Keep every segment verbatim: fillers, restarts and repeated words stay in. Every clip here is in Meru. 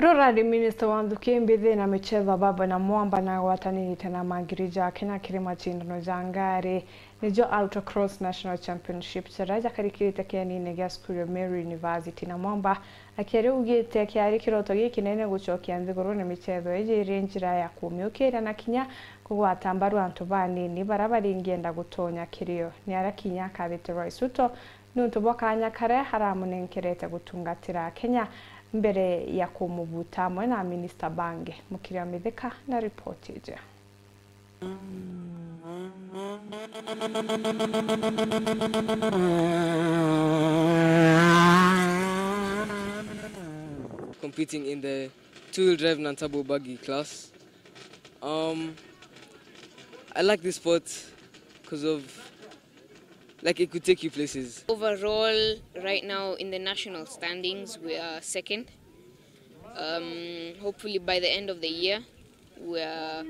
Rurari, minista wa nthuki, mbithi na michetho Baba Namwamba nagwatanirite na mangiri ja Kenya kiri macindano ja ngari nijo Autocross National Championship jaria jakarikirite kienine gia cukuru ya Meru University. Namwamba akiaria augite kiari kiroto gikinene gucokia nthigurune michetho iji iri njira ya kumiukiria na kinya kugwata mbaru antu banini baria baringienda gutonya kirio. Ni aria kinya akabite Rais Ruto niuntu bwa kanya karia aramunenkerete gutungatira Kenya mbere ya kumubuta amwe na minista bangi. Mukiria Mithika na ripoti iji. Competing in the two-wheel drive non-turbo buggy class. Um, I like this sport because of, like, it could take you places. Overall, right now in the national standings, we are second. Um, hopefully by the end of the year, we are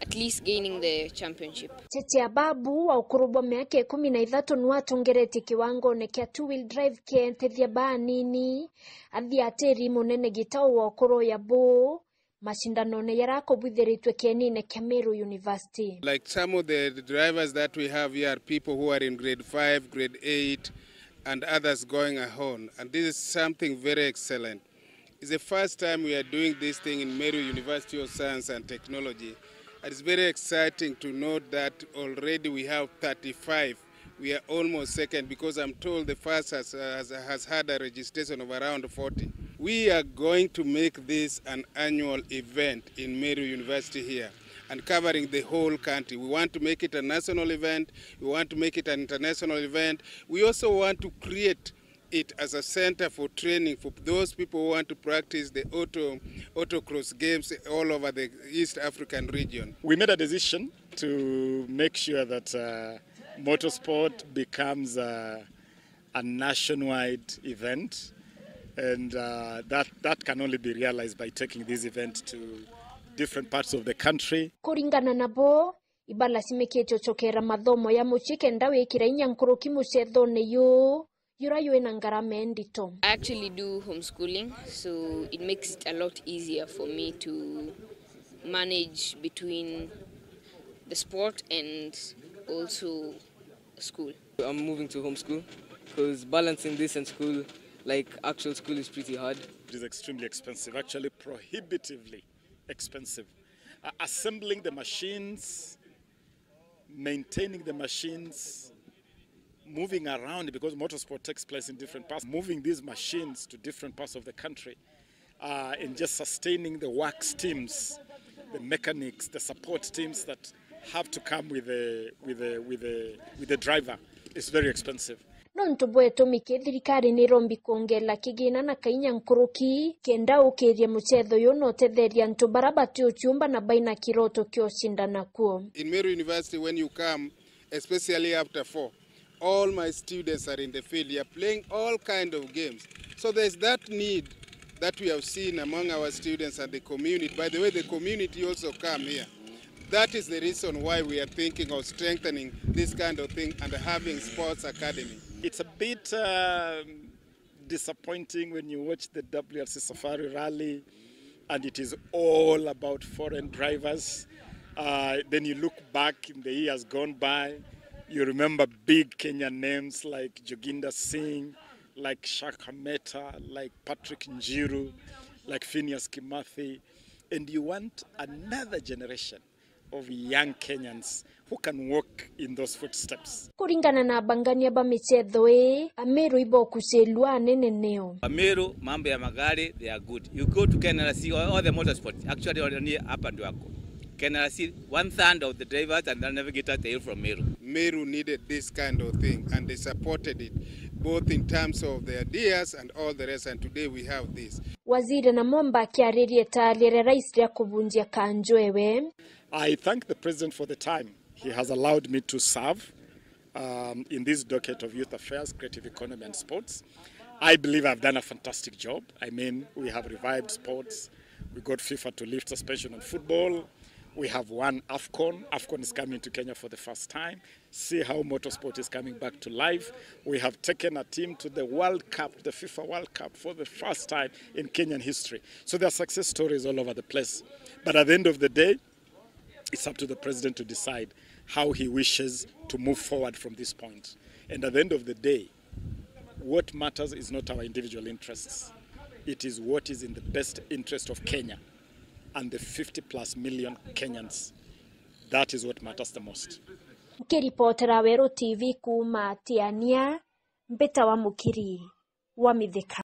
at least gaining the championship. Cheche Ababu, wa ukuru bwa miaka ikumi na ithatu, niwe atongeretie kiwangone kia two-wheel drive kientethia baanini, athiatiri munene Gitau wa ukuru ya Buu, macindanone jaria akubwithiritue kienine kia Meru University. Like, some of the drivers that we have here are people who are in grade five, grade eight, and others going on. And this is something very excellent. It's the first time we are doing this thing in Meru University of Science and Technology. And it's very exciting to note that already we have thirty-five. We are almost second because I'm told the first has, has, has had a registration of around forty. We are going to make this an annual event in Meru University here and covering the whole country. We want to make it a national event. We want to make it an international event. We also want to create it as a center for training for those people who want to practice the auto, autocross games all over the East African region. We made a decision to make sure that, uh, motorsport becomes, uh, a nationwide event, and, uh, that, that can only be realized by taking this event to different parts of the country. Kuringana nabo, ibalacimikite ucokera mathomo ya mucii kenda wikira inya nkuruki mucethone yu, yura ywi na ngarama indito. I actually do homeschooling, so it makes it a lot easier for me to manage between the sport and also school. I'm moving to homeschool because balancing this and school, like, actual school, is pretty hard. It is extremely expensive, actually prohibitively expensive. Uh, assembling the machines, maintaining the machines, moving around, because motorsport takes place in different parts, moving these machines to different parts of the country, uh, and just sustaining the works teams, the mechanics, the support teams that have to come with the, with the, with the, with the driver is very expensive. Nontu bwa itumi ki, thirikari nirombi kwongela kigina na kainya nkuruki kenda ukiria mucetho uyu na utetheria antu bara bati uciumba na baina kiroto kia ucindana kuo. In Meru University, when you come, especially after four, all my students are in the field. They are playing all kind of games. So there's that need that we have seen among our students and the community. By the way, the community also come here. That is the reason why we are thinking of strengthening this kind of thing and having sports academy. It's a bit, um, disappointing when you watch the W R C Safari Rally and it is all about foreign drivers. Uh, then you look back in the years gone by, you remember big Kenyan names like Joginder Singh, like Shakhameta, like Patrick Njiru, like Phineas Kimathi, and you want another generation of young Kenyans who can walk in those footsteps. Kuringana na abangania ba micetho ii, Ameru ibokucilua anene nio. Ameru, mambo ya magari, they are good. You go to K N R C, all, all the motorsport, actually, only hapa ndio wako. K N R C, one third of the drivers and the navigators, they are from Meru. Meru needed this kind of thing and they supported it, both in terms of the ideas and all the rest, and today we have this. Waziri Namwamba akiariria itaari ria rais ria kubunjia kanjo ewe. I thank the president for the time he has allowed me to serve, um, in this docket of youth affairs, creative economy and sports. I believe I've done a fantastic job. I mean, we have revived sports. We got FIFA to lift suspension on football. We have won AFCON. AFCON is coming to Kenya for the first time. See how motorsport is coming back to life. We have taken a team to the World Cup, the FIFA World Cup, for the first time in Kenyan history. So there are success stories all over the place. But at the end of the day, it's up to the president to decide how he wishes to move forward from this point. And at the end of the day, what matters is not our individual interests. It is what is in the best interest of Kenya and the fifty plus million Kenyans. That is what matters the most. Nkiripotera Weru T V kuuma Tiania, mbita wa Mukiri wa Mithika.